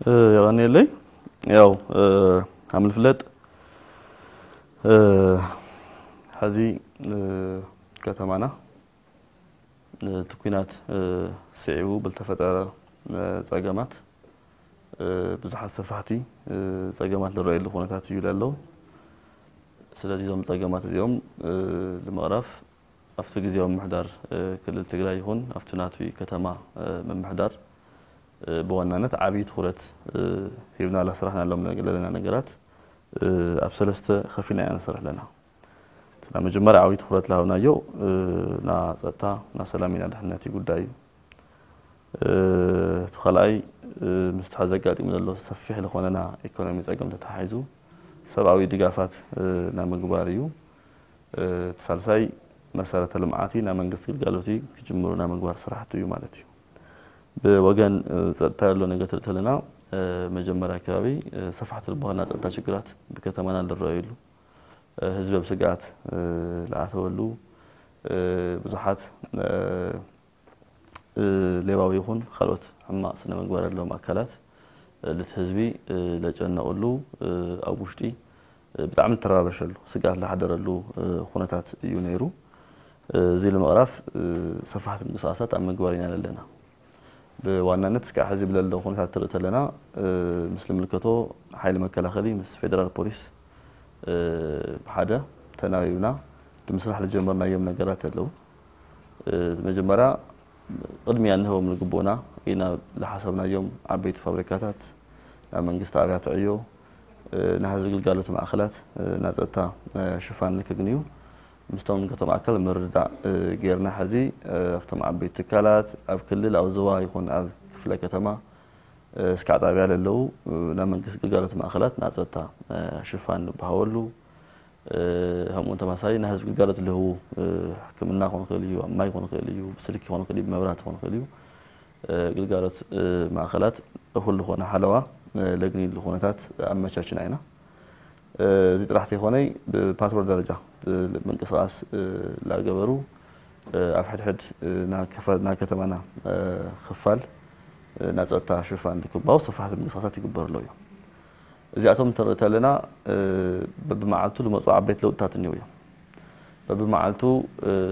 የቐንየለይ። ያው፣ ከም ዝፍለጥ፣ ሕዚ፣ ከተማና፣ እቲ ኲናት፣ ስዒቡ ብዝተፈጠረ፣ ጸገማት፣ ብዙሓት ሰፋሕቲ፣ ጸገማት ዝረኣየሉ ኩነታት እዩ ዘሎ። ስለዚ እዞም ጸገማት እዚኦም፣ ንምቕራፍ ኣብቲ ግዜያዊ ምምሕዳር፣ ክልል ትግራይ ይኹን ኣብቲ ናቱ ከተማ፣ ምምሕዳር፣ ብዋናነት ዓብዪ ትኹረት፣ ሂብና ላስራሕናሎም ዘለና ነገራት፣ ኣብ ሰለስተ ከፊልና ኢና ንሰርሕ ኣለና። እቲ ናይ መጀመርያ ዓብዪ ትኹረት ዝሃብናዮ፣ ና ጸጥታ፣ ና ሰላም ኢና ድሕነት እዩ ጉዳይ እዩ። እቲ ካልኣይ፣ ምስቲ ሕዚ ኣጋጢሙ ዘሎ ሰፊሕ ዝኾነ ና ኢኮኖሚ ጸገም ተተሓሒዙ ሰብኣዊ ድጋፋት፣ ናይ ምግባር እዩ። እቲ ሳልሳይ መሰረተ ልምዓቲ ናይ መንግስቲ ግልጋሎቲ ክጅምሩ ናይ ምግባር ስራሕቲ እዩ ማለት እዩ። ብወገን፣ ጸጥታ ዘሎ ነገር ትርኢ ተለና፣ መጀመርያ ከባቢ፣ ሰፋሕቲ ዝበሃሉ ናይ ጸጥታ ሽግራት ብከተማና ዝረኣየሉ፣ ህዝቢ ኣብ ስግኣት፣ ዝኣተወሉ፣ ብዙሓት፣ ሌባዊ ይኹን ካልኦት ሕማቕ ስነ ምግባር ዘለዎም ኣካላት፣ ነቲ ህዝቢ፣ ለጨነቕሉ፣ ኣብ ውሽጢ፣ ብጣዕሚ ዝተረባበሸሉ፣ ስግኣት ዝሓደረሉ፣ ኩነታት እዩ ነይሩ። እዚ ንምቕራፍ፣ ሰፋሕቲ ምንቅስቃሳት ኣብ ምግባር ኢና ዘለና። ብዋናነት እስካዕ ሕዚ ብለሎ ኩነታት ትርኢ ተለና፣ ምስ ልምልከቶ ሓይሊ መከላኸሊ ምስ ፌደራል ፖሊስ፣ ብሓደ ተናቢብና ብምስራሕ ዝጀመርናዮም ነገራት ኣለዉ። መጀመርያ ቅድሚያ እንህቦም ዝግብኡና ኢና ዝሓሰብናዮም ዓበይቲ ፋብሪካታት፣ ናይ መንግስቲ ኣብያተ ዕዮ፣ ናይ ህዝቢ ግልጋሎት ማእኸላት፣ ናይ ጸጥታ ሽፋን ንክግንዩ ምስቶም ንከቶም ኣካል ምርድዳእ ጌርና። ሕዚ ኣብቶም ዓበይቲ ትካላት፣ ኣብ ክልል፣ ኣብ ዞባ ይኹን ኣብ ክፍለ ከተማ፣ እስካዕ ጣብያ ለለዉ ናይ መንግስቲ ግልጋሎት ማእኸላት ናይ ጸጥታ ሽፋን ንበሃወሉ፣ ከምኡውን ተመሳሳሊ ናይ ህዝቢ ግልጋሎት ልህቡ፣ ሕክምና ክኾን ክእል እዩ፣ ኣብ ማይ ክኾን ክእል እዩ፣ ብስልኪ ክኾን ክእል እዩ፣ ብመብራህቲ ክኾን ክእል እዩ፣ ግልጋሎት ማእኸላት እኹል ዝኾነ ሓለዋ ለግንየሉ ኩነታት ኣመቻችና ኢና። እዚ ጥራሕ ተይኮነይ ብፓትሮል ደረጃ ምንቅስቃስ ላገበሩ ኣብ ሕድሕድ ናይ ከተማና ክፋል ናይ ጸጥታ ሽፋን ልክባው ሰፋሕቲ ምንቅስቃሳት ይግበር ኣሎ እዩ። እዚኣቶም እንተርኢ ተለና፣ በብመዓልቱ ዝመፁ ዓበይቲ ለውጥታት እኒው እዮም። በብመዓልቱ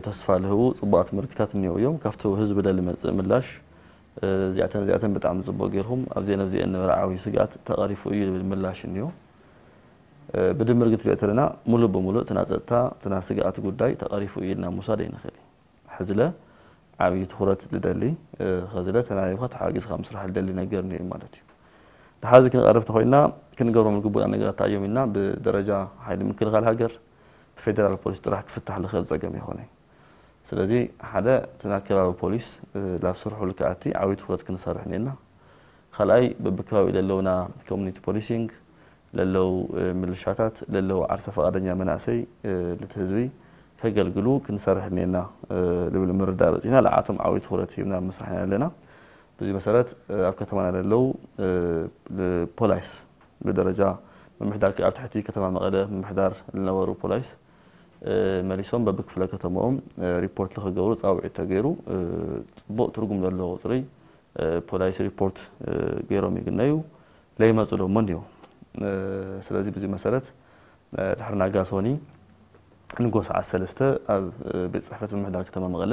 ተስፋ ልህቡ ፅቡቃት ምልክታት እኒው እዮም። ካብቲ ህዝቢ ደሊ መፅእ ምላሽ፣ እዚኣተን እዚኣተን ብጣዕሚ ፅቡቅ ጌርኩም ኣብዚአን ኣብዚአን ነበረ ዓብዪ ስግኣት ተቐሪፉ እዩ ዝብል ምላሽ እኒኦ። ብድምር ግን ትሪኦ ተለና ሙሉእ ብሙሉእ እቲ ናይ ፀጥታ እቲ ናይ ስግኣት ጉዳይ ተቐሪፉ እዩ ኢልና ምውሳድ ኣይንኽእል። ሕዝለ ዓብዪ ትኹረት ልደሊ፣ ኸዝለ ተናቢብካ ተሓጊዝካ ምስራሕ ልደሊ ነገር እኒኦ ማለት እዩ። ንሓዚ ክንቐርብ ተኾይና ክንገብሮም ዝግቡና ነገራት እንታይ እዮም ኢልና ብደረጃ ሓይሊ ምክልኻል ሃገር ብፌደራል ፖሊስ ጥራሕ ክፍታሕ ዝኽእል ፀገም ይኾነ። ስለዚ ሓደ እቲ ናይ ከባቢ ፖሊስ ላብ ስርሑ ልክኣቲ ዓብዪ ትኹረት ክንሰርሕ እኒና። ካልኣይ በብከባቢ ለለውና ኮሚኒቲ ፖሊሲንግ ለለው ምልሻታት ለለው ዓርሰ ፈቃደኛ መናእሰይ ልቲ ህዝቢ ከገልግሉ ክንሰርሕ እኒና ልብል ምርዳእ በፂና ልዓቶም ዓብዪ ትኹረት ሂብና ምስራሕ ኢና ኣለና። ብዙ መሰረት ኣብ ከተማና ለለው ፖላይስ ብደረጃ ምምሕዳር ኣብ ትሕቲ ከተማ መቐለ ምምሕዳር ዝነበሩ ፖላይስ መሊሶም በብክፍለ ከተማኦም ሪፖርት ልክገብሩ ፃውዒት ተገይሩ ፅቡቅ ትርጉም ዘለዎ ቁፅሪ ፖላይስ ሪፖርት ገይሮም ይግነዩ። ለይመፁ ደሞ እንዲሁ። ስለዚ ብዙ መሰረት ድሕሪ ናጋ ሶኒ ንጎ ሰዓት ሰለስተ ኣብ ቤት ፅሕፈት ምምሕዳር ከተማ መቐለ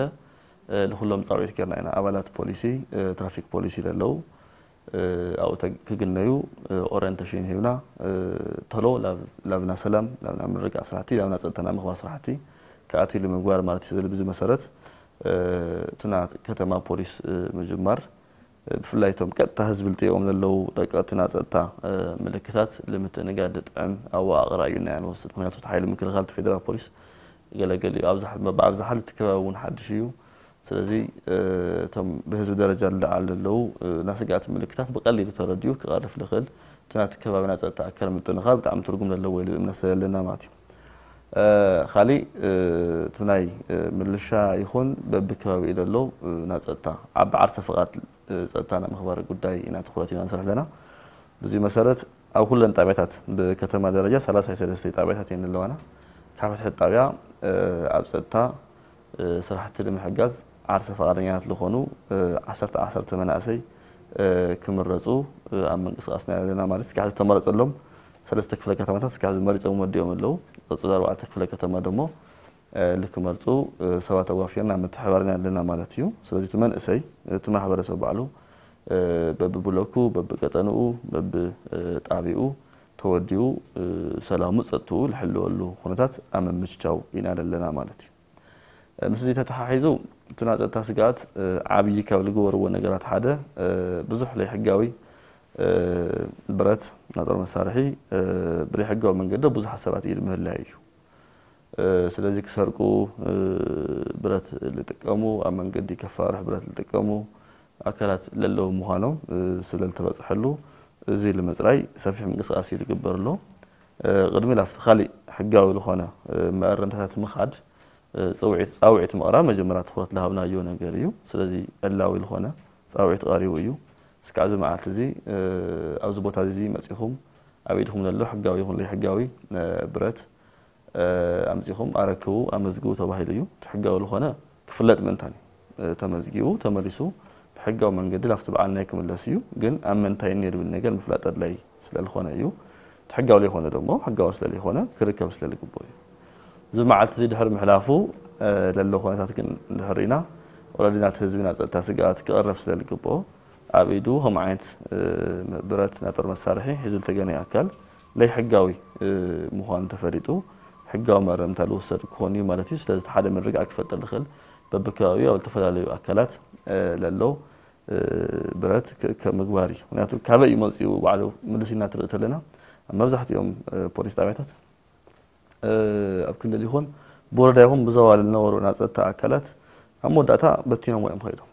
ልኩሎም ፃውዒት ጌርና ኢና። ኣባላት ፖሊሲ ትራፊክ ፖሊሲ ለለው ኣብኡ ክግነዩ ኦሪንቴሽን ሂብና ተሎ ላብና ሰላም ላብና ምርጋእ ስራሕቲ ላብና ፀጥታና ምኽባር ስራሕቲ ክኣትዩ ንምግባር ማለት እዩ። ስለዚ ብዙ መሰረት እትና ከተማ ፖሊስ ምጅማር ብፍላይ እቶም ቀጥታ ህዝቢ ልጥኦም ዘለዉ ደቀትና ፀጥታ ምልክታት ልምትእንጋድ ጥዕም ኣወቃቕራ እዩ ናይ ንወስድ። ምክንያቱ እቲ ሓይሊ ምክልኻል እቲ ፌደራል ፖሊስ ገለገል እዩ። ኣብዝሓ ልቲ ከባቢ እውን ሓድሽ እዩ። ስለዚ እቶም ብህዝቢ ደረጃ ልለዓሉ ዘለዉ ናይ ስግኣት ምልክታት ብቀሊሉ ተረዲኡ ክቐርፍ ዝኽእል እቲ ናቲ ከባቢና ፀጥታ ኣካል ምጥንኻር ብጣዕሚ ትርጉም ዘለዎ ኢሉ እምነት ስለ ዘለና ማለት እዩ። ካሊእ እቲ ናይ ምልሻ ይኹን በብከባቢኡ ዘለዉ ናይ ፀጥታ ዓቢ ዓርሰ ፍቓድ ፀጥታ ናይ ምኽባር ጉዳይ ኢና ትኹረት ኢና ንሰርሕ ኣለና። ብዙ መሰረት ኣብ ኩለን ጣብያታት ብከተማ ደረጃ ሰላሳ ሰለስተ ጣብያታት እየን ዘለዋና። ካብ ሕድሕድ ጣብያ ኣብ ፀጥታ ስራሕቲ ንምሕጋዝ ዓርሰ ፈቓደኛታት ዝኾኑ ዓሰርተ ዓሰርተ መናእሰይ ክምረፁ ኣብ ምንቅስቃስና ኣለና። ማለት እስካዕ ዝተመረፀሎም ሰለስተ ክፍለ ከተማታት እስካዕ ዝመሪፆም ወዲኦም ኣለዉ። ቀፅሎ ኣርባዕተ ክፍለ ከተማ ደሞ ልክመርፁ ሰባት ኣዋፊርና ምትሕባርና ኣለና ማለት እዩ። ስለዚ እቲ መንእሰይ እቲ ማሕበረሰብ ባዕሉ በብብሎኩ በብቀጠንኡ በብጣቢኡ ተወዲኡ ሰላሙ ፀጥትኡ ዝሕልወሉ ኩነታት ኣብ ምምችቻው ኢና ዘለና ማለት እዩ። ምስ እዚ ተተሓሒዙ እቲ ናይ ፀጥታ ስግኣት ዓብዪ ካብ ዝገበርዎ ነገራት ሓደ ብዙሕ ዘይሕጋዊ ብረት ናይ ጦር መሳርሒ ብዘይሕጋዊ መንገዲ ብዙሓት ሰባት ኢድ ምህላዩ እዩ። ስለዚ ክሰርቁ ብረት ዝጥቀሙ ኣብ መንገዲ ከፋርሕ ብረት ዝጥቀሙ ኣካላት ለለዉ ምዃኖም ስለ ዝተበፅሐሉ እዚ ንምፅራይ ሰፊሕ ምንቅስቃስ እዩ ዝግበር ኣሎ። ቅድሚ ላፍቲ ካሊእ ሕጋዊ ዝኾነ መእረምታታት ምኻድ ፅውዒት ፃውዒት ምቕራብ መጀመርያ ትኩረት ዝሃብናዮ ነገር እዩ። ስለዚ ዕላዊ ዝኾነ ፃውዒት ቀሪቡ እዩ። እስካዕ እዚ መዓልቲ እዚ ኣብዚ ቦታ እዚ መፂኹም ኣብ ኢድኹም ዘሎ ሕጋዊ ይኹን ዘይሕጋዊ ብረት ኣምፂኹም ኣረክቡ ኣመዝግቡ ተባሂሉ እዩ። እቲ ሕጋዊ ዝኾነ ክፍለጥ ምእንታን እዩ። ተመዝጊቡ ተመሊሱ ብሕጋዊ መንገዲ ላፍቲ በዓል ናይ ክምለስ እዩ። ግን ኣብ መንታይ እኒኦ ዝብል ነገር ምፍላጥ ኣድላይ ስለዝኾነ እዩ። እቲ ሕጋዊ ዘይኮነ ደሞ ሕጋዊ ስለዝኾነ ክርከብ ስለዝግብኦ እዩ። እዚ መዓልቲ እዚ ድሕሪ ምሕላፉ ለሎ ኩነታት ግን እንድሕር ኢና ኦረዲ ናቲ ህዝቢ ናብ ፀጥታ ስግኣት ክቐረብ ስለዝግብኦ ኣብ ኢዱ ከም ዓይነት ብረት ናይ ጦር መሳርሒ ሒዙ ዝተገነየ ኣካል ለይሕጋዊ ምዃኑ ተፈሊጡ ሕጋዊ መእረምታ ዝወሰድ ክኾን እዩ ማለት እዩ። ስለዚ እቲ ሓደ ምርግጋእ ክፈጥር ዝኽእል በብከባቢኡ ኣብ ዝተፈላለዩ ኣካላት ለሎ ብረት ክእከብ ምግባር እዩ። ምክንያቱ ካበይ እዩ መፂኡ ባዕሉ ምልስ ኢና ትርኢ ተለና ኣብ መብዛሕትኦም ፖሊስ ጣቢያታት ኣብ ክልል ይኹን ብወረዳ ይኹን ብዞባ ዝነበሩ ናይ ፀጥታ ኣካላት ኣብ መወዳእታ በቲኖም እዮም ከይዶም።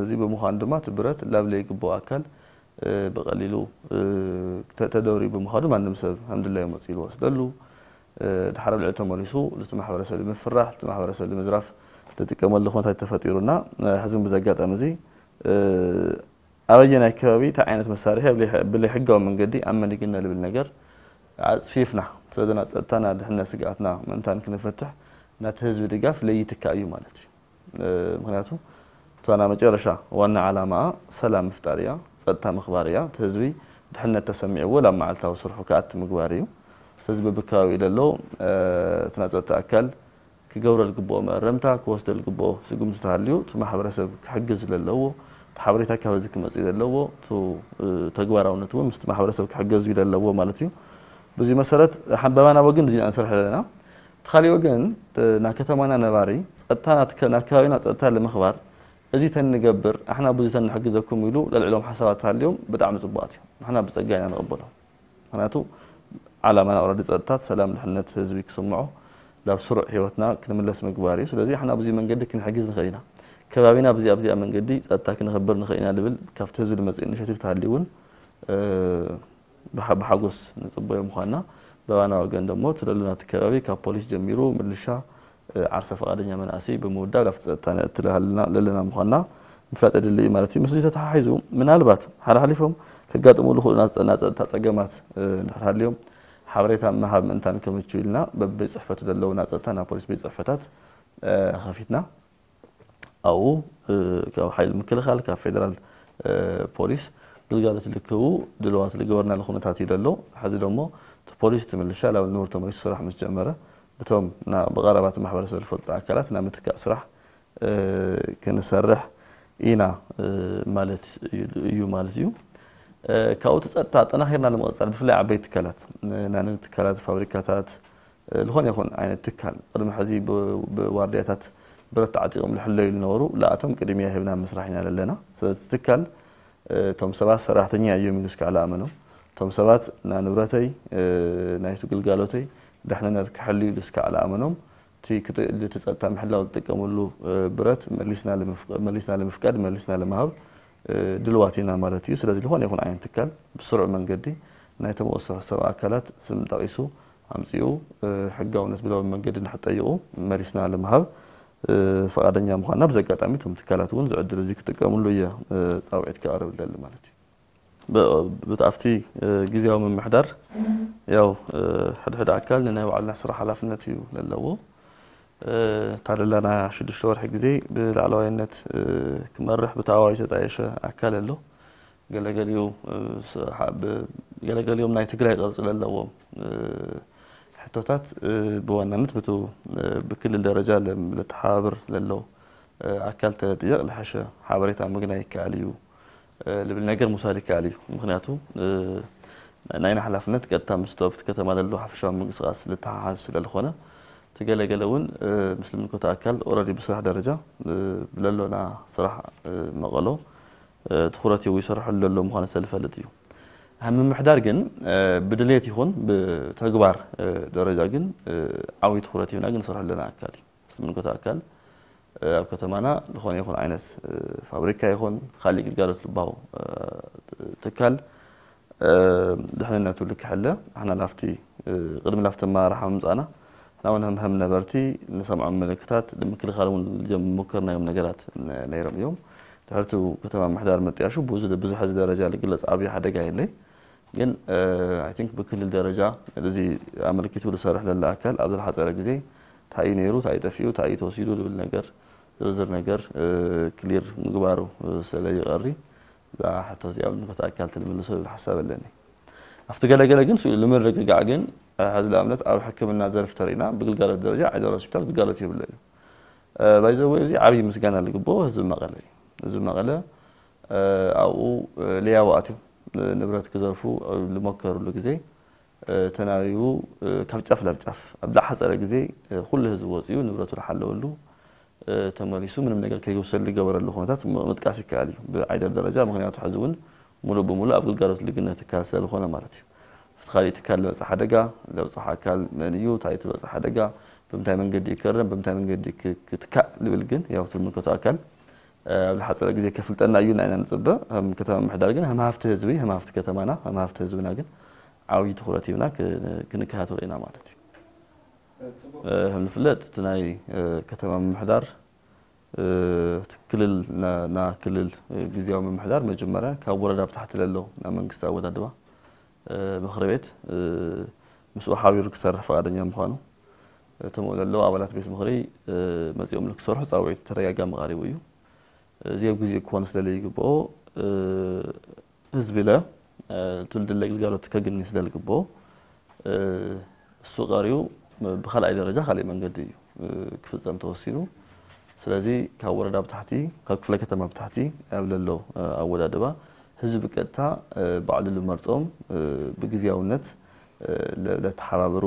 እዚ ብምዃኑ ድማ እቲ ብረት ላብ ለይግብኦ ኣካል ብቐሊሉ ተደብሪ ብምዃኑ ማንም ሰብ ከም ድላዩ መፂኡ ዝወስደሉ ድሓር ኣብ ልዕሊ ተመሊሱ ልቲ ማሕበረሰብ ንምፍራሕ ልቲ ማሕበረሰብ ንምዝራፍ ዝጥቀመሉ ኩነታት ተፈጢሩና ሕዚ ብዚ ኣጋጣሚ እዚ ኣበየናይ ከባቢ እንታይ ዓይነት መሳርሒ ብለይ ሕጋዊ መንገዲ ኣብ መን ይግነ ዝብል ነገር ኣፅፊፍና ስለዚ ናይ ፀጥታና ድሕነት ስግኣትና ምእንታን ክንፈትሕ ናቲ ህዝቢ ድጋፍ ለይትካእ እዩ ማለት እዩ። ምክንያቱ እታ ናይ መጨረሻ ዋና ዓላማኣ ሰላም ምፍጣር እያ፣ ፀጥታ ምኽባር እያ። እቲ ህዝቢ ድሕነት ተሰሚዕዎ ናብ መዓልታዊ ስርሑ ክኣቲ ምግባር እዩ። ስለዚ በብከባቢኡ ዘሎ እቲ ናይ ፀጥታ ኣካል ክገብሮ ዝግብኦ መእረምታ ክወስዶ ዝግብኦ ስጉምቲ ተሃልዩ እቲ ማሕበረሰብ ክሕግዝ ለለዎ እቲ ሓበሬታ ካብ ህዝቢ ክመፅእ ዘለዎ እቲ ተግባራውነት እውን ምስቲ ማሕበረሰብ ክሕገዝ እዩ ለለዎ ማለት እዩ። ብዙ መሰረት በባና ወግን እዚ ንሰርሕ ኣለና። እቲ ካሊእ ወገን ናይ ከተማና ነባሪ ፀጥታ ናይ ከባቢና ፀጥታ ለምኽባር እዚ ተንገብር ኣሕና ብዙ ተንሕግዘኩም ኢሉ ለልዕሎም ሓሳባት ተሃልዮም ብጣዕሚ ፅቡቃት እዮም። ንሕና ብፀጋ ኢና ንቕበሎም። ምክንያቱ ዓላማና ኦረዲ ፀጥታት ሰላም ድሕነት ህዝቢ ክስምዖ ናብ ስሩዕ ህይወትና ክንምለስ ምግባር እዩ። ስለዚ ኣሕና ብዙ መንገዲ ክንሕግዝ ንኽእል ኢና። ከባቢና ብዚኣ ብዚኣ መንገዲ ፀጥታ ክነኽብር ንኽእል ኢና ዝብል ካብቲ ህዝቢ ዝመፅእ ኢኒሽቲቭ ተሃልዩ እውን ብሓጎስ ንፅበዮ ምኳንና በባና ወገን ደሞ ትለሉ ናቲ ከባቢ ካብ ፖሊስ ጀሚሩ ምልሻ ዓርሰ ፈቓደኛ መናእሰይ ብምውዳብ ላፍቲ ፀጥታ ነእትል ለለና ምዃንና ምፍላጥ የድሊ እዩ ማለት እዩ። ምስዚ ተተሓሒዙ ምናልባት ሓላሓሊፎም ከጋጥሙ ዝኽእሉ ናይ ፀጥታ ፀገማት እንድሕር ሃልዮም ሓበሬታ ምሃብ ምእንታን ከምቹ ኢልና በብቤት ፅሕፈቱ ዘለዉ ናይ ፀጥታ ናይ ፖሊስ ቤት ፅሕፈታት ከፊትና ኣብኡ ካብ ሓይሊ ምክልኻል ካብ ፌደራል ፖሊስ ግልጋሎት ልክቡ ድልዋት ዝገበርናሉ ኩነታት እዩ ዘሎ። ሕዚ ደሞ እቲ ፖሊስ እቲ ምልሻ ላብ ንቡር ተመሊሱ ስራሕ ምስ ጀመረ ብቶም ብቐረባ እቲ ማሕበረሰብ ዝፈልጡ ኣካላት ናይ ምትካእ ስራሕ ክንሰርሕ ኢና ማለት እዩ ማለት እዩ። ካብኡ እቲ ፀጥታ ኣጠናኺርና ንምቕፃል ብፍላይ ዓበይቲ ትካላት ናይ ንግዲ ትካላት ፋብሪካታት ዝኾነ ይኹን ዓይነት ትካል ቅድሚ ሕዚ ብዋርድያታት ብረት ተዓጢቖም ዝሕለዩ ዝነበሩ ለኣቶም ቅድሚያ ሂብና ምስራሕ ኢና ዘለና። ስለዚ ትካል እቶም ሰባት ሰራሕተኛ እዮም ኢሉ እስካዕ ለኣመኖም እቶም ሰባት ናይ ንብረተይ ናይቲ ግልጋሎተይ ድሕንነት ክሕሉ ኢሉ እስካዕ ለኣመኖም እቲ ጸጥታ ምሕላው ዝጥቀመሉ ብረት መሊስና ለምፍቃድ መሊስና ለምሃብ ድልዋት ኢና ማለት እዩ። ስለዚ ዝኾነ ይኹን ዓይነት ትካል ብስሩዕ መንገዲ ናይ ተመወሶ ሰብ ኣካላት ስም ጠቒሱ ኣምጺኡ ሕጋውነት ብላዊ መንገዲ ንክጠይቑ መሊስና ለምሃብ ፈቓደኛ ምዃንና ብዚ ኣጋጣሚ እቶም ትካላት እውን እዚ ዕድል እዚ ክጥቀምሉ እየ ጻውዒት ክቐርብ ደሊ ማለት እዩ። ብቲ ኣብቲ ግዜያዊ ምምሕዳር ያው ሕድሕድ ኣካል ንናይ ባዕልና ስራሕ ሓላፍነት እዩ ለለዎ። እታ ለላና ሽዱሽተ ወርሒ ግዜ ብላዕለዋይነት ክመርሕ ብተኣዋጅ ዝተጣየሸ ኣካል ኣሎ። ገለገሊኡ ገለገሊኦም ናይ ትግራይ ቅርፂ ዘለዎም ሕቶታት ብዋናነት ብቱ ብክልል ደረጃ ለተሓባብር ለለው ኣካል ተጥየቕ ለሐሸ ሓበሬታ ምግናይ ይከኣል እዩ ልብል ነገር ምውሳድ ይከኣል እዩ። ምክንያቱ ናይና ሓላፍነት ቀጥታ ምስ ዶብቲ ከተማ ለሎ ሓፈሻዊ ምንቅስቃስ ልተሓሓዝ ስለልኾነ ትገለገለ እውን ምስ ልምልከቶ ኣካል ኦረዲ ብስራሕ ደረጃ ብለሎና ስራሕ መቐሎ ትኩረት ይው ይሰርሐሉ ዘሎ ምዃኑ ዝተልፈልጥ እዩ። ኣብ ምምሕዳር ግን ብድሌት ይኹን ብተግባር ደረጃ ግን ዓብይ ትኩረት ይብና ግን ንሰርሐሉ ዘለና ኣካል እዩ። ምስ ልምልከቶ ኣካል ኣብ ከተማና ዝኾነ ይኹን ዓይነት ፋብሪካ ይኹን ካሊእ ግልጋሎት ልባው ትካል ድሕንነቱ ልክሐለ ኣሕና ላፍቲ ቅድሚ ላፍቲ ኣመራርሓ ምምፃእና ሕና እውን ህምሀም ነበርቲ ንሰምዖም ምልክታት ንምክልኻል እውን ዝጀመርናዮም ነገራት ነይሮም እዮም። ድሕርቱ ከተማ ምሕዳር መጥያሹ ብዙሕ ሕዚ ደረጃ ልግለፅ ዓብዪ ሓደጋ የለይ። ግን I think ብክልል ደረጃ እዚ ኣመልኪቱ ዝሰርሕ ለለ ኣካል ኣብ ዝሓፀረ ግዜ እንታይ እዩ ነይሩ እንታይ እዩ ጠፊኡ እንታይ እዩ ተወሲዱ ዝብል ነገር ዝርዝር ነገር ክሊር ምግባሩ ስለ ይቐሪ እዛ ሕቶ እዚኣ ኣብ ንምልከቶ ኣካል ትልምልሶ ዝብል ሓሳብ ኣለኒ። ኣብቲ ገለገለ ግን ስኡ ንምርግጋዕ ግን ሕዚ ንኣብነት ኣብ ሕክምና ዘርፍ ተሪእና ብግልጋሎት ደረጃ ዓይደር ሆስፒታል ግልጋሎት የብሎ እዩ። ባይዘወይ እዚ ዓብዪ ምስጋና ዝግብኦ ህዝቢ መቐለ እዩ። ህዝቢ መቐለ ኣብኡ ሌያቡ ኣትዮም ንብረት ክዘርፉ ዝመከርሉ ግዜ ተናቢቡ ካብ ጫፍ ናብ ጫፍ ኣብ ዝሓፀረ ግዜ ኩሉ ህዝቢ ወፂኡ ንብረቱ ዝሓለወሉ ተመሊሱ ምንም ነገር ከይወሰድ ዝገበረሉ ኩነታት ምጥቃስ ይከኣል እዩ ብዓይደር ደረጃ። ምክንያቱ ሕዚ እውን ሙሉእ ብሙሉእ ኣብ ግልጋሎት ልግነ ትካል ስለዝኾነ ማለት እዩ። ኣብቲ ካሊእ ትካል ዝመፅእ ሓደጋ ዘብፅሖ ኣካል መን እዩ እንታይ እቲ ዝበፅእ ሓደጋ ብምንታይ መንገዲ ይከረም ብምንታይ መንገዲ ክትካእ ዝብል ግን ያው እቲ ዝምልከቶ ኣካል ኣብ ዝሓፀረ ግዜ ከፍልጠና እዩ ኢና ኢና ንፅበ። ከም ከተማ ምምሕዳር ግን ከም ሃፍቲ ህዝቢ ከም ሃፍቲ ከተማና ከም ሃፍቲ ህዝብና ግን ዓብዪ ትኹረት ሂብና ክንከታተሎ ኢና ማለት እዩ። ከም ዝፍለጥ እቲ ናይ ከተማ ምምሕዳር እቲ ክልል ና ክልል ግዝያዊ ምምሕዳር መጀመርያ ካብ ወረዳ ብታሕቲ ለሎ ናይ መንግስቲ ኣወዳድባ ምኽሪ ቤት ምስኡ ሓቢሩ ክሰርሕ ፈቓደኛ ምዃኑ እቶም ለለዉ ኣባላት ቤት ምኽሪ መፂኦም ክሰርሑ ፃውዒት ተደጋጋሚ ቀሪቡ እዩ። እዚ ኣብ ግዜኡ ክኾን ስለ ዘይግብኦ ህዝቢ ለ ትውልዲ ለግልጋሎት ከግኒ ስለ ዝግብኦ እሱ ቀሪቡ ብካልኣይ ደረጃ ካሊእ መንገዲ እዩ ክፍፀም ተወሲኑ። ስለዚ ካብ ወረዳ ብታሕቲ ካብ ክፍለ ከተማ ብታሕቲ ኣብ ለሎ ኣወዳድባ ህዝቢ ብቀጥታ ባዕሉ ዝመርፆም ብግዝያውነት ለተሓባብሩ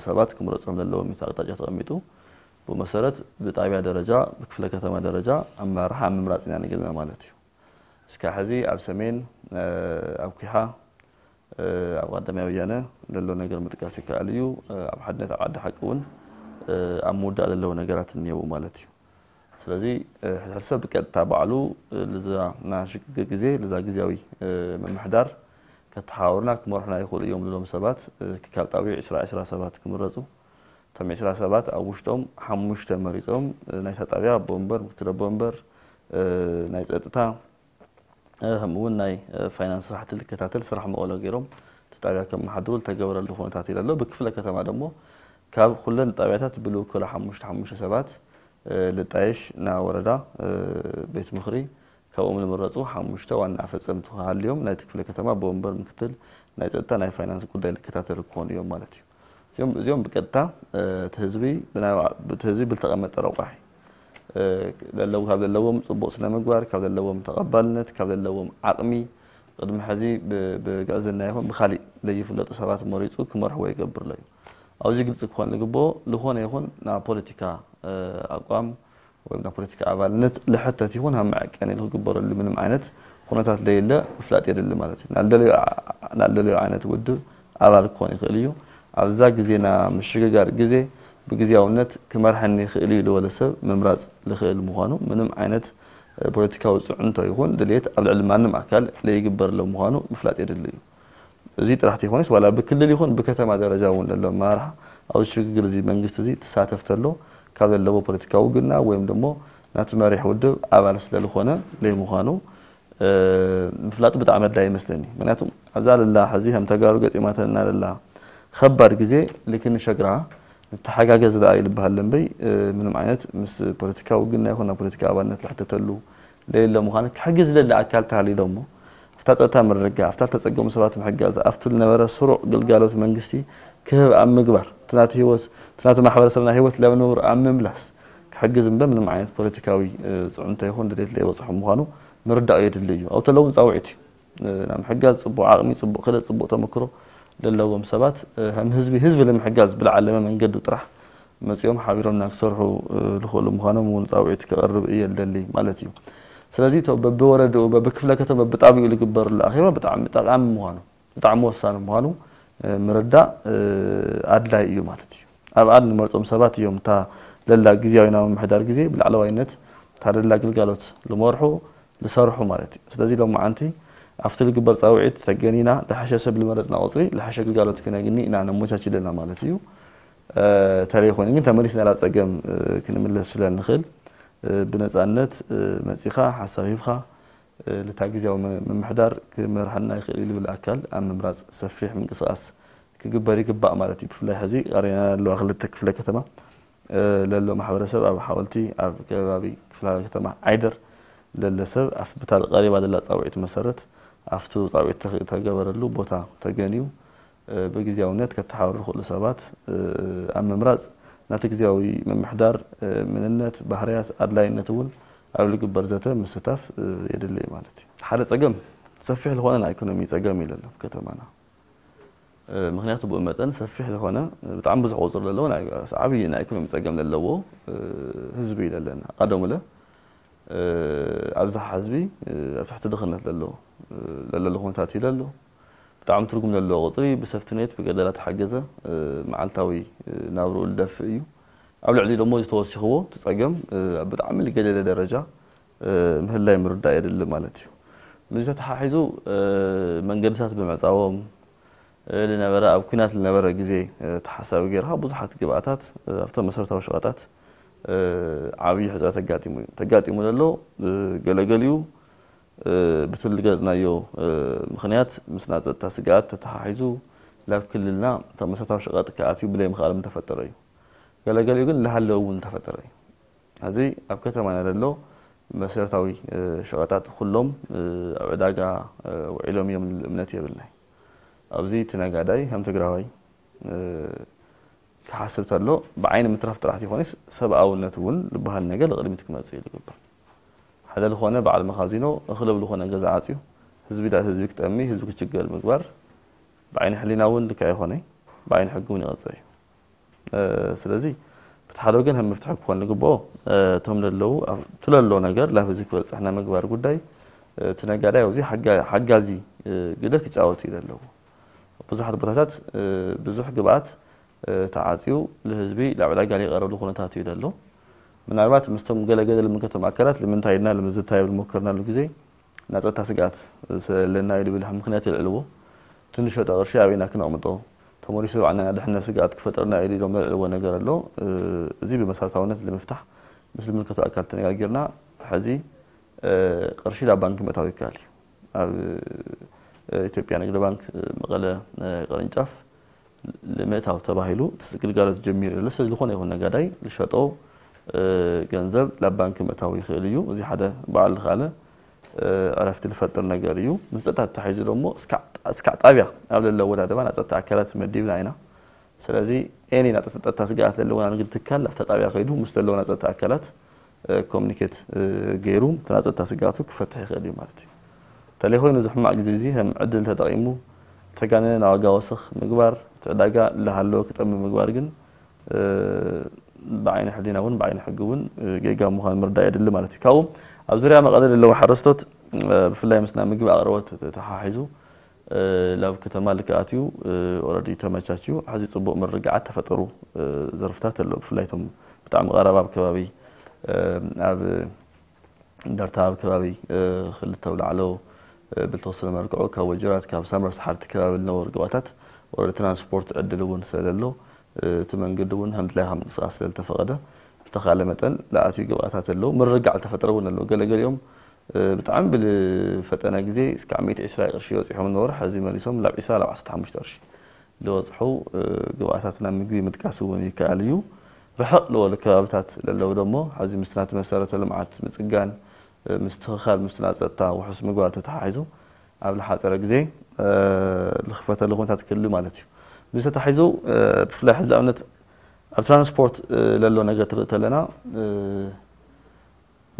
ሰባት ክምረፆም ዘለዎም እዩ ኣቅጣጫ ተቐሚጡ። ብኡ መሰረት ብጣብያ ደረጃ ብክፍለ ከተማ ደረጃ ኣመራርሓ ኣብ ምምራፅ ኢና ንገለና ማለት እዩ። እስካብ ሕዚ ኣብ ሰሜን ኣብ ኩሓ ኣብ ቀዳማይ ወያነ ዘሎ ነገር ምጥቃስ ይከኣል እዩ። ኣብ ሓድነት ኣብ ዓዲ ሓቂ እውን ኣብ ምውዳእ ዘለዉ ነገራት እኒአው ማለት እዩ። ስለዚ ሕድሕድ ሰብ ብቀጥታ ባዕሉ ልዛ ናሽግግር ግዜ ልዛ ግዜያዊ ምምሕዳር ከተሓባብሩና ክመርሑና ይኽእሉ እዮም ዝብሎም ሰባት ካብ ጣቢዑ ዕስራ ዕስራ ሰባት ክምረፁ እቶም ዕስራ ሰባት ኣብ ውሽጦም ሓሙሽተ መሪፆም ናይታ ጣብያ ኣቦ ወንበር ምክትል ኣቦ ወንበር ናይ ፀጥታ ከምኡ እውን ናይ ፋይናንስ ስራሕቲ ልከታተል ስራሕ መቐሎ ገይሮም እቲ ጣብያ ከመሓድሩ ዝተገበረሉ ኩነታት ይለሎ። ብክፍለ ከተማ ደሞ ካብ ኩለን ጣብያታት ብልውክሎ ሓሙሽተ ሓሙሽተ ሰባት ልጣየሽ ናብ ወረዳ ቤት ምኽሪ ካብኦም ዝምረፁ ሓሙሽተ ዋና ኣፈፀምቲ ክሃልዮም ናይቲ ክፍለ ከተማ ብወንበር ምክትል ናይ ፀጥታ ናይ ፋይናንስ ጉዳይ ልከታተሉ ክኾኑ እዮም ማለት እዩ። እዚኦም እዚኦም ብቀጥታ እቲ ህዝቢ ብናይ እቲ ህዝቢ ብልተቐመጠ ረቋሒ ለለው ካብ ዘለዎም ፅቡቕ ስነ ምግባር ካብ ዘለዎም ተቐባልነት ካብ ዘለዎም ዓቕሚ ቅድሚ ሕዚ ብግዕዝና ይኹን ብካሊእ ለይፍለጡ ሰባት መሪፁ ክመርሕዎ ይገብር ኣሎ እዩ። ኣብዚ ግልፂ ክኾን ዝግብኦ ዝኾነ ይኹን ናብ ፖለቲካ ኣቋም ወይ ናብ ፖለቲካ ኣባልነት ልሕተት ይኹን ኣብ መዐቀኒ ክግበረሉ ምንም ዓይነት ኩነታት ለየለ ምፍላጥ የድሊ ማለት እዩ። ናልደለዮ ናልደለዮ ዓይነት ውድብ ኣባል ክኾን ይኽእል እዩ። ኣብዛ ግዜና ምሽግጋር ግዜ ብግዜያውነት ክመርሐኒ ይኽእል እዩ ዝበለ ሰብ ምምራፅ ልኽእል ምዃኑ ምንም ዓይነት ፖለቲካዊ ፅዕንቶ ይኹን ድልየት ኣብ ልዕሊ ማንም ኣካል ለይግበርሎ ምዃኑ ምፍላጥ የድሊ እዩ። እዚ ጥራሕ ተይኮነስ ዋላ ብክልል ይኹን ብከተማ ደረጃ እውን ዘሎ ኣመራርሓ ኣብዚ ሽግግር እዚ መንግስቲ እዚ ትሳተፍ ተሎ ካብ ዘለዎ ፖለቲካዊ ውግና ወይም ደሞ ናቲ መሪሕ ውድብ ኣባል ስለልኾነ ለይምዃኑ ምፍላጡ ብጣዕሚ ኣድላይ ይመስለኒ። ምክንያቱ ኣብዛ ለላ ሕዚ ከም ተጋሩ ገጢማተና ለላ ከባድ ግዜ ልክኒ ሸግራ ንተሓጋገዝ ደኣ ይልበሃል እምበይ ምንም ዓይነት ምስ ፖለቲካዊ ውግና ይኹን ናብ ፖለቲካ ኣባልነት ልሕተተሉ ለየለ ምዃኑ ክሕግዝ ለለ ኣካል ተሃልዩ ደሞ ኣብቲ እታ ጸጥታ ምርግጋእ፣ ኣብታ ዝተጸገሙ ሰባት ምሕጋዝ፣ ኣብቲ ዝነበረ ስሩዕ ግልጋሎት መንግስቲ ክህብ ኣብ ምግባር፣ እቲ ናቱ ህይወት፣ እቲ ናቱ ማሕበረሰብና ህይወት ናብ ንቡር ኣብ ምምላስ ክሕግዝ እምበር ምንም ዓይነት ፖለቲካዊ፣ እ፣ ጽዕንቶ ይኹን ድሌት ዘይበጽሖም ምዃኑ ምርዳእ የድሊ እዩ። ኣብኡ ተለውን ጻውዒት እዩ። እ፣ ናብ ምሕጋዝ ጽቡቕ ዓቕሚ፣ ጽቡቕ ክእለት፣ ጽቡቕ ተመክሮ ዘለዎም ሰባት፣ እ፣ ከም ህዝቢ፣ ህዝቢ ንምሕጋዝ ብልዓለመ መንገዱ ጥራሕ መጺኦም ሓቢሮምና ክሰርሑ፣ እ፣ ዝኽእሉ ምዃኖም እውን ጻውዒት ክቐርብ እየ ልደሊ ማለት እዩ። ስለዚ እቶ በብወረድኡ፣ በብክፍለ ከተማ፣ በብጣቢኡ ዝግበርሉ ኣኼባ ብጣዕሚ ጠቓሚ ምዃኑ፣ ብጣዕሚ ወሳኒ ምዃኑ፣ እ፣ ምርዳእ፣ እ፣ ኣድላይ እዩ ማለት እዩ። ኣብኣ ንመርጾም ሰባት እዮም እታ ለላ ግዝያዊ ናይ ምምሕዳር ግዜ ብላዕለዋይነት እታ ለላ ግልጋሎት ዝመርሑ፣ ዝሰርሑ ማለት እዩ። ስለዚ ሎም መዓንቲ ኣብቲ ዝግበር ጻውዒት ተገኒና፣ ዝሓሸ ሰብ ዝመረጽና ቁጽሪ ዝሓሸ ግልጋሎት ክነግኒ ኢና ነመቻች ዘለና ማለት እዩ። እ፣ ተለይ ኮይኑ ግን ተመሊስና ናብ ጸገም፣ እ፣ ክንምለስ ስለ ንኽእል፣ እ፣ ብነጻነት፣ እ፣ መጺኻ ሓሳብ ሂብካ፣ እ፣ ልታ ግዝያዊ ም-፣ ምምሕዳር ክመርሓና ይኽእል እዩ ዝብል ኣካል ኣብ ምምራጽ ሰፊሕ ምንቅስቓስ ክግበር ይግባእ ማለት እዩ። ብፍላይ ሕዚ ቀሪና ዘለዋ ክልተ ክፍለ ከተማ፣ እ፣ ለሎ ማሕበረሰብ ኣብ ሓወልቲ፣ ኣብ ከባቢ ክፍለ ከተማ ዓይደር ለለ ሰብ ኣብ ብታ ቀሪባ ዘላ ጻውዒት መሰረት ኣብቲ ጻውዒት ተኽ-፣ ተገበረሉ ቦታ ተገንዩ፣ እ፣ ብግዝያውነት ከተሓባብሩ ዝኽእሉ ሰባት፣ እ፣ ኣብ ምምራጽ ናቲ ግዝያዊ ምምሕዳር፣ እ፣ መንነት፣ ባህርያት፣ ኣድላይነት እውን ኣብ ዝግበር ዘተ ምስታፍ፣ እ፣ የድሊ እዩ ማለት እዩ። ሓደ ጸገም ሰፊሕ ዝኾነ ናይ ኢኮኖሚ ጸገም እዩ ለሎ ኣብ ከተማና። እ፣ ምኽንያቱ ብኡ መጠን ሰፊሕ ዝኾነ፣ እ፣ ብጣዕሚ ብዙሕ ቁጽሪ ዘለዎ ናይ፣ ዓብዪ ናይ ኢኮኖሚ ጸገም ዘለዎ፣ እ፣ ህዝቢ እዩ ለለና። ቀደሙለ፣ እ፣ ኣብዝሓ ህዝቢ፣ እ፣ ኣብ ትሕቲ ድኽነት ለሎ፣ እ፣ ለለሉ ኩነታት እዩ ለሎ። ብጣዕሚ ትርጉም ለለዎ ቁጽሪ ብሰፍትኔት ብገደላ ተሓገዘ፣ እ፣ መዓልታዊ፣ እ፣ ናብርኡ ዝደፍእ እዩ። ኣብ ልዕሊ ደሞ ዝተወሲኽዎ እቲ ጸገም፣ እ፣ ኣብ ብጣዕሚ ዝገደደ ደረጃ፣ እ፣ ምህላይ ምርዳእ የድሊ ማለት እዩ። ምስዚ ተተሓሒዙ፣ እ፣ መንገድታት ብምዕጻዎም፣ እ፣ ዝነበረ ኣብ ኲናት ዝነበረ ግዜ፣ እ፣ ተሓሳቢ ጌርካ ብዙሓት ግብኣታት፣ እ፣ ኣብቶም መሰረታዊ ሸቐጣት፣ እ፣ ዓብዪ ሕጽረት ተጋጢሙ እዩ። ተጋጢሙ ዘሎ፣ እ፣ ገለገሊኡ፣ እ፣ ብቲ ዝገለጽናዮ፣ እ፣ ምኽንያት ምስ ናይ ጸጥታ ስግኣት ተተሓሒዙ ላብ ክልልና እቶም መሰረታዊ ሸቐጥ ክኣትዩ ብለይ ምኽኣሎም ዝተፈጠረ እዩ። ገለገሊኡ ግን ልሃለዉ እውን ዝተፈጠረ እዩ። ሕዚ ኣብ ከተማና ዘሎ መሰረታዊ፣ እ፣ ሸቐጣት ኩሎም፣ እ፣ ኣብ ዕዳጋ፣ እ፣ ውዒሎም እዮም ዝብል እምነት የብልናይ። ኣብዚ እቲ ነጋዳይ ከም ትግራዋይ፣ እ፣ ክሓስብ ተሎ ብዓይኒ ምትራፍ ጥራሕ ዘይኮነስ ሰብኣውነት እውን ዝበሃል ነገር ቅድሚት ክመጽእ እዩ ዝግበር። ሓደ ዝኾነ በዓል መኻዚኖ እኽሊ ኣብ ዝኾነ ገዛ ዓጽዩ ህዝቢ ዳ-፣ ህዝቢ ክጠሚ፣ ህዝቢ ክችገር ምግባር ብዓይኒ ሕሊና እውን ልክዕ ኣይኮነይ፣ ብዓይኒ ሕጊ እውን ይቐጽዕ እዩ። እ፣ ስለዚ፣ በቲ ሓደ ወገን ከም መፍትሒ ክኾን ዝግብኦ፣ እ፣ እቶም ለለዉ፣ ኣብ-፣ እቲ ለሎ ነገር ላብ ህዝቢ ክበጽሕ ናይ ምግባር ጉዳይ፣ እ፣ እቲ ነጋዳይ ኣብዚ ሓጋ-፣ ሓጋዚ፣ እ፣ ግደ ክጫወት እዩ ዘለዎ። ብዙሓት ቦታታት፣ እ፣ ብዙሕ ግብኣት፣ እ፣ ተዓጽዩ ንህዝቢ ላብ ዕዳጋ ዘይቐረብሉ ኩነታት እዩ ዘሎ። ምናልባት ምስቶም ገለ ገለ ልምልከቶም ኣካላት ልምንታይ ኢልና ልምዝታይ ኣብ ዝሞከርናሉ ግዜ፣ ናይ ጸጥታ ስግኣት ስለለና እዩ ዝብል ምኽንያት የልዕልዎ። እቲ ንሸጦ ቅርሺ ኣበይና ክነቕምጦ፣ ተመሊሱ ባዕልና ናይ ድሕነት ስግኣት ክፈጥረና እዩ ኢሎም ዘልዕልዎ ነገር ኣሎ። እ፣ እዚ ብመሰረታውነት ንምፍታሕ ምስ ዝምልከቶ ኣካል ተነጋጊርና፣ ሕዚ፣ እ፣ ቅርሺ ናብ ባንክ ምእታው ይከኣል እዩ። ኣብ፣ እ፣ ኢትዮጵያ ንግዲ ባንክ፣ እ፣ መቐለ፣ እ፣ ቅርንጫፍ ንምእታው ተባሂሉ እቲ ግልጋሎት ጀሚሩ ዘሎ። ስለዚ ዝኾነ ይኹን ነጋዳይ ዝሸጦ፣ እ፣ ገንዘብ ናብ ባንክ ምእታው ይኽእል እዩ። እዚ ሓደ ባዕሉ ዝኸኣለ፣ እ፣ ዕረፍቲ ዝፈጥር ነገር እዩ። ምስ ጸጥታ ተታሒዙ ደሞ እስካዕ፣ እስካዕ ጣብያ ኣብ ለለ ኣወዳድባ ናይ ጸጥታ ኣካላት መዲብና ኢና። ስለዚ ኤኒ ናይ ጸጥታ ስግኣት ዘለዎም ናይ ንግዲ ትካል ኣብታ ጣብያ ከይዱ ምስ ዘለዉ ናይ ጸጥታ ኣካላት፣ እ፣ ኮሙኒኬት፣ እ፣ ገይሩ እቲ ናይ ጸጥታ ስግኣቱ ክፈትሕ ይኽእል እዩ ማለት እዩ። እንተለይ ኮይኑ እዚ ሕማቕ ግዜ እዚ ከም ዕድል ተጠቒሙ ዝተጋነነ ናይ ዋጋ ወሰኽ ምግባር፣ እቲ ዕዳጋ እናሃለወ ክጠሚ ምግባር ግን፣ እ፣ ብዓይኒ ሕሊና እውን ብዓይኒ ሕጊ እውን፣ እ፣ ጌጋ ምዃኑ ምርዳእ የድሊ ማለት እዩ። ካብኡ ኣብ ዙርያ መቐለ ዘለዉ ሓረስቶት፣ እ፣ ብፍላይ ምስ ናይ ምግቢ ኣቕርቦት ተተሓሒዙ፣ እ፣ ላብ ከተማ ልክኣት እዩ፣ እ፣ ኦረዲ ተመቻችዩ፣ ሕዚ ጽቡቕ ምርግዓት ተፈጠሩ፣ እ፣ ዘርፍታት ኣሎ። ብፍላይ እቶም ብጣዕሚ ቀረባ ኣብ ከባቢ፣ እ፣ ኣብ እንደርታ ኣብ ከባቢ፣ እ፣ ክልተ ኣውላዕሎ፣ እ፣ ብልተወሰነ መልክዑ ካብ ወጀራት፣ ካብ ሳምረ ሰሓርቲ ከባቢ ዝነበሩ ግብኣታት ኦረዲ ትራንስፖርት ዕድል እውን ስለዘሎ፣ እ፣ እቲ መንገዲ እውን ከም ድላይካ ምንቅስቃስ ስለዝተፈቐደ፣ ብተኻእለ መጠን ዝኣትዩ ግብኣታት ኣለዉ። ምርግጋዕ ዝተፈጠረ እውን ኣለዉ። ገለገሊኦም፣ እ፣ ብጣዕሚ ብዝፈጠነ ግዜ እስካብ ሚእቲ ዕስራ ቅርሺ በፂሖም ነበሩ። ሕዚ መሊሶም ላብ ዕስራ ላብ ዓሰርተ ሓሙሽተ ቅርሺ ዝበፅሑ፣ እ፣ ግብኣታት ናብ ምግቢ ምጥቃስ እውን ይከኣል እዩ። ርሕቕ ዝበሉ ከባብታት ለለዉ ደሞ፣ ሕዚ ምስቲ ናቲ መሰረተ ልምዓት ምፅጋን፣ እ፣ ምስትኽኻል ምስቲ ናይ ጸጥታ ውሑስ ምግባር ተተሓሒዙ፣ ኣብ ዝሓፀረ ግዜ ዝኽፈተሉ ኩነታት ክህሉ ማለት እዩ። ምስ ተታሒዙ ብፍላይ ሕዚ ኣብነት ኣብ ትራንስፖርት ለሎ ነገር ትርኢ ተለና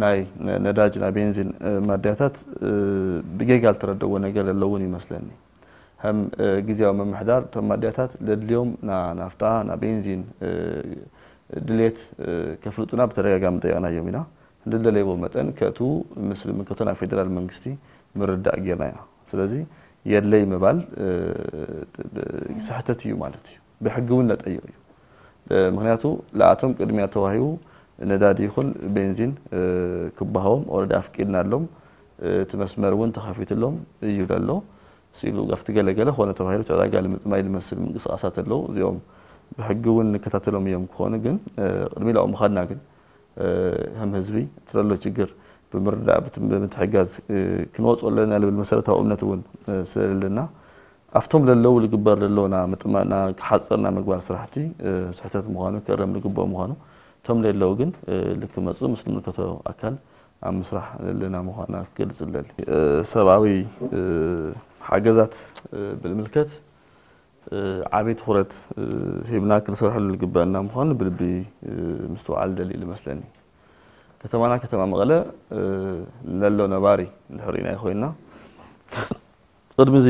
ናይ ነዳጅ ናይ ቤንዚን ማድያታት ብጌጋ ዝተረደዎ ነገር ለለውን ይመስለኒ። ከም ግዜያዊ ምምሕዳር እቶም ማድያታት ለድልዮም ናፍጣ ና ቤንዚን ድሌት ከፍልጡና ብተደጋጋሚ ጠየቕናዮም ኢና። እንደደለይዎ መጠን ከእትዉ ምስ ዝምልከቶ ናይ ፌደራል መንግስቲ ምርዳእ ጌርና ኢና። ስለዚ የድለይ ምባል ስሕተት እዩ ማለት እዩ። ብሕጊ እውን ነጠይቕ እዩ። ምክንያቱ ለኣቶም ቅድሚያ ተዋሂቡ ነዳዲ ይኹን ቤንዚን ክበሃቦም ኦረዲ ኣፍቂድና ኣሎም እቲ መስመር እውን ተኸፊትሎም እዩ ዘሎ ሲሉ ኣብቲ ገለገለ ኮነ ተባሂሉ ዕዳጋ ልምጥማይ ልመስል ምንቅስቃሳት ኣለዉ። እዚኦም ብሕጊ እውን ንከታተሎም እዮም ክኾኑ ግን ቅድሚ ላኡ ምኻድና ግን ከም ህዝቢ እቲ ዘሎ ችግር ብምርዳእ ብምትሕጋዝ ክንወፅኦ ኣለና ልብል መሰረታዊ እምነት እውን ስለለና ኣብቶም ለለዉ ልግበር ለለውና ምጥማና ክሓፀርና ምግባር ስራሕቲ ስሕተት ምዃኑ ክእረም ልግብኦ ምዃኑ እቶም ለለዉ ግን ልክመፁ ምስ ንምልከቶ ኣካል ኣብ ምስራሕ ዘለና ምዃና ክገልፅ ለሊ ሰብኣዊ ሓገዛት ብምልከት ዓብዪ ትኹረት ሂብና ክንሰርሐሉ ዝግበአና ምዃኑ ብልቢ ምስትውዓል ደሊ ዝመስለኒ። ከተማና ከተማ መቐለ ነሎ ነባሪ እንድሕር ርኢናዮ ኮይንና ቅድሚ እዚ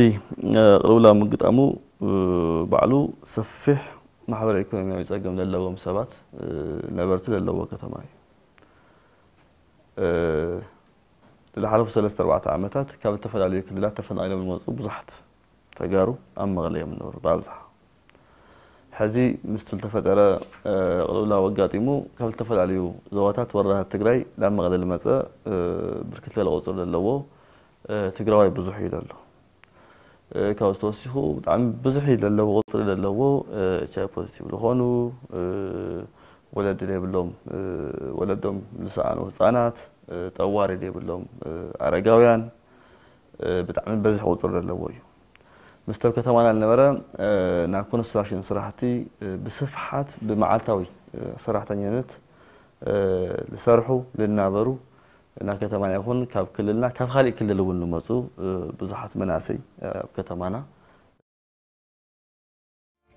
ቅልውላው ምግጣሙ ባዕሉ ሰፊሕ ማሕበረ ኢኮኖሚያዊ ፀገም ዘለዎም ሰባት ነበርቲ ዘለዎ ከተማ እዩ። ዝሓለፉ ሰለስተ ኣርባዕተ ዓመታት ካብ ዝተፈላለዩ ክልላት ተፈናቒሎም ዝመፁ ብዙሓት ተጋሩ ኣብ መቐለ እዮም ዝነብሩ ብኣብዝሓ። ሕዚ ምስቲ ዝተፈጠረ ቅልውላው ኣጋጢሙ ካብ ዝተፈላለዩ ዞባታት ወረዳታት ትግራይ ናብ መቐለ ዝመፀ ብርክት ዝበለ ቁፅሪ ዘለዎ ትግራዋይ ብዙሕ እዩ ዘሎ። ካብ ዝተወሲኹ ብጣዕሚ ብዙሕ እዩ ዘለዎ ቁፅሪ ዘለዎ ኤች ኣይ ፖዚቲቭ ዝኾኑ ወለዲ ዘይብሎም ወለዶም ዝሰኣኑ ህፃናት ጠዋሪ ዘይብሎም ኣረጋውያን ብጣዕሚ በዝሕ ቁፅሪ ዘለዎ እዩ። ምስቲ ኣብ ከተማና ዝነበረ ናይ ኮንስትራክሽን ስራሕቲ ብስፍሓት ብመዓልታዊ ሰራሕተኛነት ዝሰርሑ ዝናበሩ ናብ ከተማና ይኹን ካብ ክልልና ካብ ካሊእ ክልል እውን ዝመፁ ብዙሓት መናእሰይ ኣብ ከተማና